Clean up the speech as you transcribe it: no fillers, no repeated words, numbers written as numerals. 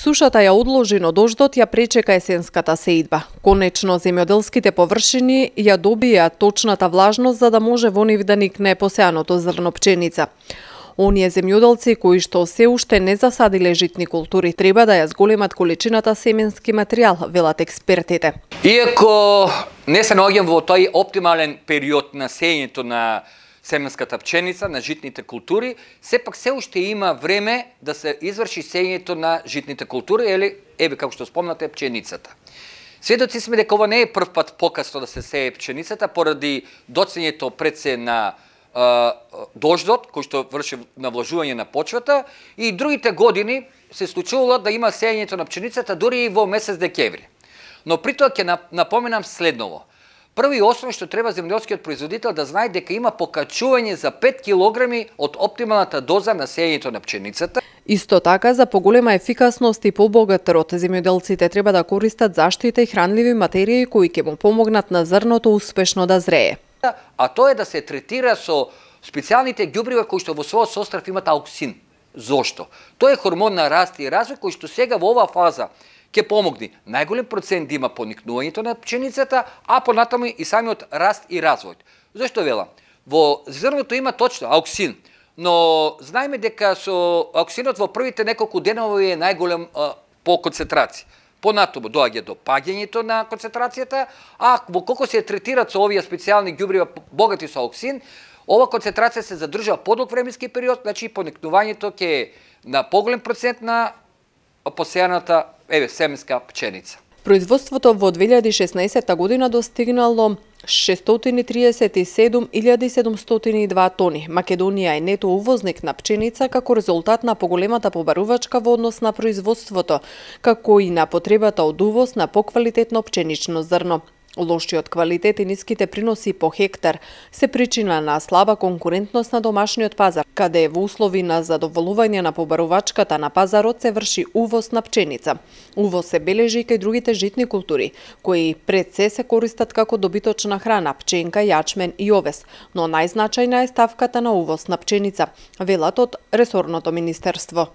Сушата ја одложи, но дождот ја пречека есенската сеидба. Конечно, земјоделските површини ја добија точната влажност за да може во нив да никне посеаното зрно пченица. Оние земјоделци кои што се уште не засадиле житни култури треба да ја зголемат количината семенски материјал, велат експертите. Иако не се наоѓам во тој оптимален период на сеењето на семенската пченица, на житните култури, сепак се уште има време да се изврши сеењето на житните култури, или, еве, како што спомнате, пченицата. Сведоци сме дека ова не е прв пат покасно да се сее пченицата, поради доцнењето пред се на дождот, кој што врши навлажување на почвата, и другите години се случувало да има сеењето на пченицата дури и во месец декември. Но при тоа ќе напоменам следново. Прво и основно што треба земјоделскиот производител да знае дека има покачување за 5 килограми од оптималната доза на сеењето на пченицата. Исто така, за поголема ефикасност и побогат род, земјоделците треба да користат заштита и хранливи материи кои ќе му помогнат на зрното успешно да зрее. А тоа е да се третира со специјалните ѓубрива кои што во својот состав имат ауксин. Зошто? Тоа е хормон на раст и развој кој што сега во оваа фаза ќе помогне најголем процент да има поникнувањето на пченицата, а понатаму и самиот раст и развој. Зошто велам? Во зрното има точно ауксин, но знаеме дека со ауксинот во првите неколку денови е најголем по концентрација. Понатаму доаѓа до паѓањето на концентрацијата, а во колку се третираат со овие специјални ѓубрива богати со ауксин, ова концентрација се задржува подолг временски период, значи поникнувањето ќе е на поголем процент на посејаната семенска пченица. Производството во 2016 година достигнало 637.702 тони. Македонија е нето увозник на пченица како резултат на поголемата побарувачка во однос на производството, како и на потребата од увоз на поквалитетно пченично зрно. Лошиот квалитет и ниските приноси по хектар се причина на слаба конкурентност на домашниот пазар, каде во услови на задоволување на побарувачката на пазарот се врши увоз на пченица. Увоз се бележи и кај другите житни култури, кои пред се користат како добиточна храна, пченка, јачмен и овес, но најзначајна е ставката на увоз на пченица, велат од ресорното министерство.